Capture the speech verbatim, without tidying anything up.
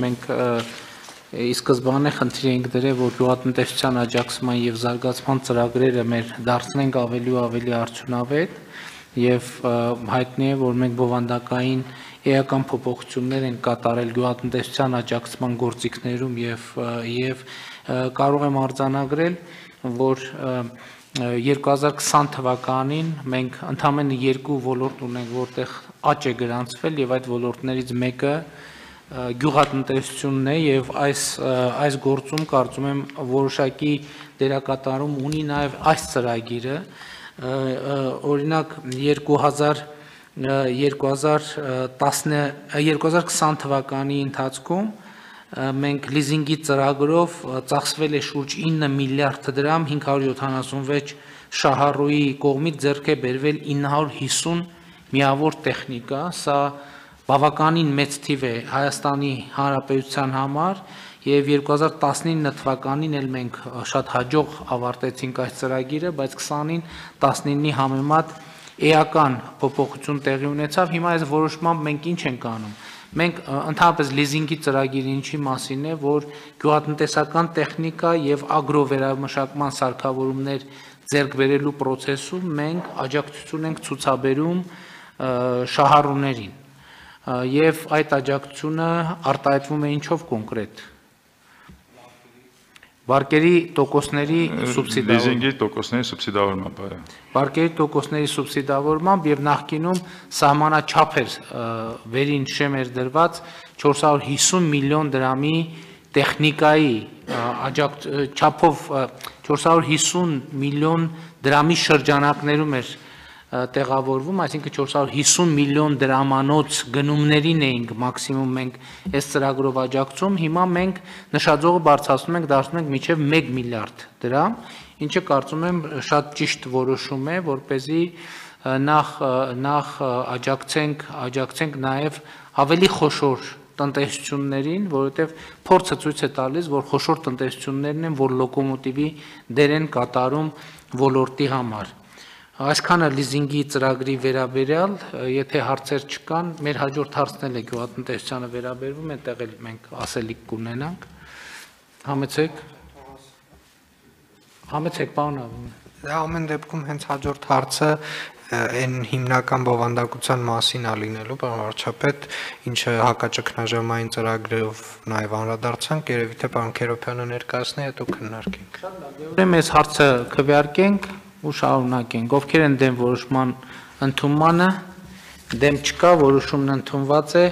Մենք ի սկզբանե խնդիր էինք դրել, որ գյուղատնտեսության աջակցման և զարգացման ծրագրերը մեր դարձնենք ավելի ու ավելի արդյունավետ և հայտնի է, որ մենք բովանդակային էական փոփոխություններ ենք կատարել գյուղատնտեսության աջակցման գործիքներում և կարող եմ արձանագրել, որ երկու հազար քսան թվականին մենք ընդամենը երկու ոլորտ ունենք, որտեղ աճ է գրանցվել և այդ ոլորտներից մեկը գյուղատնտեսությունն է և այս գործում կարծում եմ որոշակի դերակատարում ունի նաև այս ծրագիրը, օրինակ երկու հազար քսան թվականի ընթացքում մենք լիզինգի ծրագրով ծախսվել է շուրջ ինը միլիարդ դրամ, հինգ հարյուր յոթանասունվեց շահառուի կողմից ձեռք է բերվել ինը հարյուր հիսուն միավոր տեխնիկա, սա բավականին մեծ թիվ է Հայաստանի Հանրապետության համար և երկու հազար տասնինը թվականին էլ մենք շատ հաջող ավարտեցինք այս ծրագիրը, բայց քսանին տասնինի համեմատ էական փոփոխություն տեղի ունեցավ, հիմա այս որոշմամբ մենք ինչ ենք անում, մենք ընդհանրապես լիզինգի ծրագիրը ինչի մասին է, որ գյուղատնտեսական տեխնիկա և ագրովերամշակման սարքավորումներ ձեռք բերելու պրոցեսում մենք աջակցություն ենք ցուցաբերում շահառուներին և այդ աջակցությունը արտահայտվում է ինչով կոնկրետ, վարկերի տոկոսների սուբսիդավորմամբ, վարկերի տոկոսների սուբսիդավորմամբ և նախկինում սահմանաչափ էր վերին շեմ էր դրված չորս հարյուր հիսուն միլիոն դրամի տեխնիկայի չափով չորս հարյուր հիսուն միլիոն դրամի շրջանակներում էր տեղավորվում, այսինքն չորս հարյուր հիսուն միլիոն դրամանոց գնումներին էինք մաքսիմում մենք այս ծրագրով աջակցում, հիմա մենք նշաձողը բարձրացնում ենք, դարձնում ենք մինչև մեկ միլիարդ դրամ, ինչը կարծում եմ շատ ճիշտ որոշում է, որպեսզի նախ աջակցենք նաև ավելի խոշոր տնտեսություններին, որովհետև փորձը ցույց է տալիս, որ խոշոր տնտեսություններն են, որ լոկոմոտիվի դեր են կատարում ոլորտի համար։ Այսքանը լիզինգի ծրագրի վերաբերյալ, եթե հարցեր չկան, մեր հաջորդ հարցն էլ է գյուղատնտեսությանը վերաբերվում, այնտեղ էլ մենք ասելիք կունենանք, համեցեք, համեցեք, պարոն Աբովյան։ Ամեն դեպքում հենց հաջորդ հարցը այն հիմնական բովանդակության մասին է լինելու, պարոն վարչապետ, ինչը հակաճգնաժամային ծրագրերով նաև անդրադարձանք, երևի թե պարոն Քերոբյանը ներկայացնի, հետո քննարկենք։ Ուրեմն այս հարցը քվեարկենք ու շարունակենք, ովքեր են դեմ որոշման ընդունմանը, դեմ չկա, որոշումն ընդունված է։